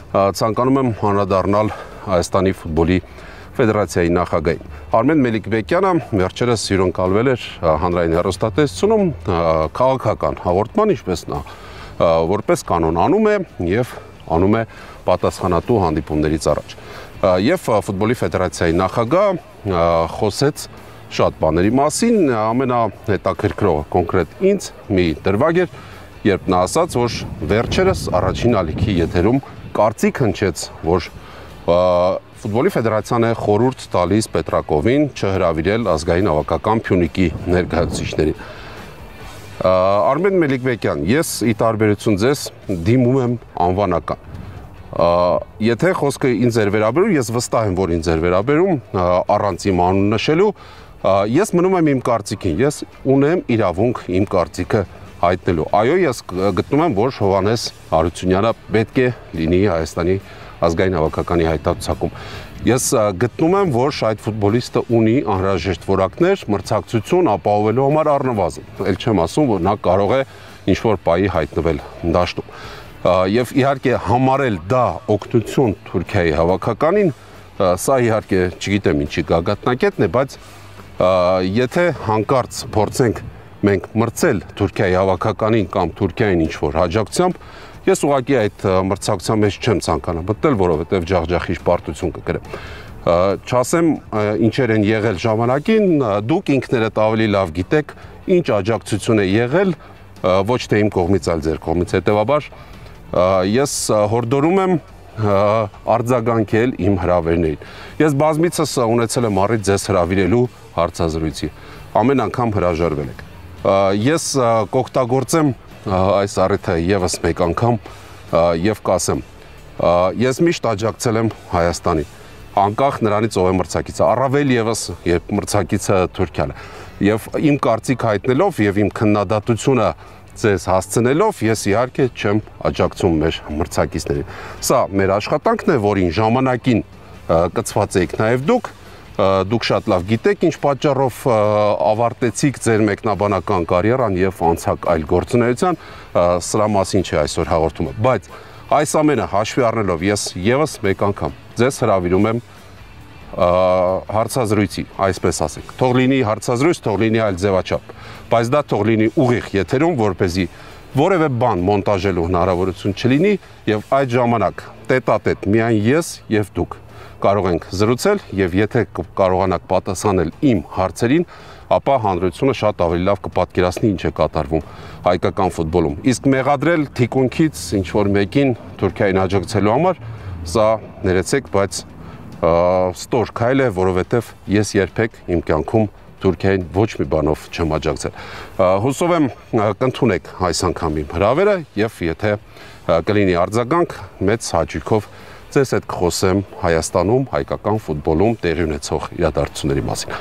ցանկանում եմ անդրադառնալ Հայաստանի ֆուտբոլի ֆեդերացիայի նախագահին։ Արմեն Մելիքբեկյանը վերջերս հյուրընկալվել էր հանրային հեռուստատեսությունում քաղաքական հաղորդման, ինչպես նա որպես կանոն անում է եւ անում է պատասխանատու հանդիպումներից առաջ։ Եվ ֆուտբոլի ֆեդերացիայի նախագահ խոսեց շատ բաների մասին, ամենահետաքրքրողը կոնկրետ ինձ մի դրվագ էր, երբ նա ասաց, որ վերջերս առաջին ալիքի եթերում կարծիք հնչեց, որ ֆուտբոլի ֆեդերացիան է խորհուրդ տալիս Պետրակովին չհրավիրել ազգային հավաքական Փյունիկի ներկայացուցիչներին։ Արմեն Մելիքբեկյան, ես ի տարբերություն ձեզ դիմում եմ անվանական։ Եթե խոսքը ինձ էր վերաբերում, ես վստահ եմ, որ ինձ էր վերաբերում, առանց իմ անուն նշելու, ես մնում եմ իմ կարծիքին, ես ունեմ իրավունք իմ կարծիքը հայտնելու։ Այո, ես գտնում եմ, որ Հովհաննես Հարությունյանը պետք է լինի Հայաստանի ազգային հավաքականի հայտարարությունում։ Ես գտնում եմ, որ այդ ֆուտբոլիստը ունի անհրաժեշտ որակներ, մրցակցություն ապահովելու համար առնվազն։ Էլ չեմ ասում, որ նա կարող է ինչ-որ պահի հայտնվել դաշտում։ Եվ իհարկե համարել դա օգնություն Թուրքիայի հավաքականին, սա իհարկե չգիտեմ ինչի գագաթնակետն է, բայց եթե հանկարծ փորձենք մենք մրցել Թուրքիայի հավաքականին կամ Թուրքիային ինչ-որ հաջողությամբ, ես ուղղակի այդ մրցակցության մեջ չեմ ցանկանա մտնել, որովհետև ջախջախիչ պարտություն կգրեմ։ Չասեմ ինչեր են եղել ժամանակին, դուք ինքներդ ավելի լավ գիտեք, ինչ աջակցություն է եղել, ոչ թե իմ կողմից, այլ ձեր կողմից, հետևաբար ես հորդորում եմ արձագանքել իմ հրավերներին։ Ես բազմիցս ունեցել եմ առիթ ձեզ հրավիրելու հարցազրույցի, ամեն անգամ հրաժարվել եք։ Ես կօգտագործեմ այս առիթը եւս մեկ անգամ եւ կասեմ, ես միշտ աջակցել եմ Հայաստանին, անկախ նրանից ով է մրցակիցը, առավել եւս երբ մրցակիցը Թուրքիան է։ Եվ իմ կարծիք հայտնելով եւ իմ քննադատությունը ձեզ հասցնելով, ես իհարկե չեմ աջակցում մեր մրցակիցներին։ Սա մեր աշխատանքն է, որին ժամանակին կցված եք նաեւ դուք շատ լավ գիտեք ինչ պատճառով ավարտեցիք ձեր մեկնաբանական կարիերան եւ անցաք այլ գործունեության, սրա մասին չէ այսօր հաղորդումը, բայց այս ամենը հաշվի առնելով ես եւս մեկ անգամ ձեզ հրավիրում եմ հարցազրույցի, այսպես ասենք։ Թող լինի հարցազրույց, թող լինի այլ ձևաչափ, բայց դա թող լինի ուղիղ եթերում, որպեսզի որևէ բան մոնտաժելու հնարավորություն չլինի եւ այդ ժամանակ տետատետ միայն ես եւ դուք կարող ենք զրուցել եւ եթե կարողանաք պատասխանել իմ հարցերին, ապա հանրությունը շատ ավելի լավ կպատկերացնի ինչ է կատարվում հայկական ֆուտբոլում։ Իսկ մեղադրել թիկունքից ինչ որ մեկին Թուրքիային աջակցելու համար, սա ներեցեք, բայց ստոր քայլ է, որովհետև ես երբեք իմ կյանքում Թուրքիային ոչ մի բանով չեմ աջակցել։ Հուսով եմ կընդունեք այս անգամ իմ հրավերը եւ եթե կլինի արձագանք, մեծ հաճույքով ձեզ հետ կխոսեմ Հայաստանում, հայկական ֆուտբոլում տեղի ունեցող իրադարձությունների մասին։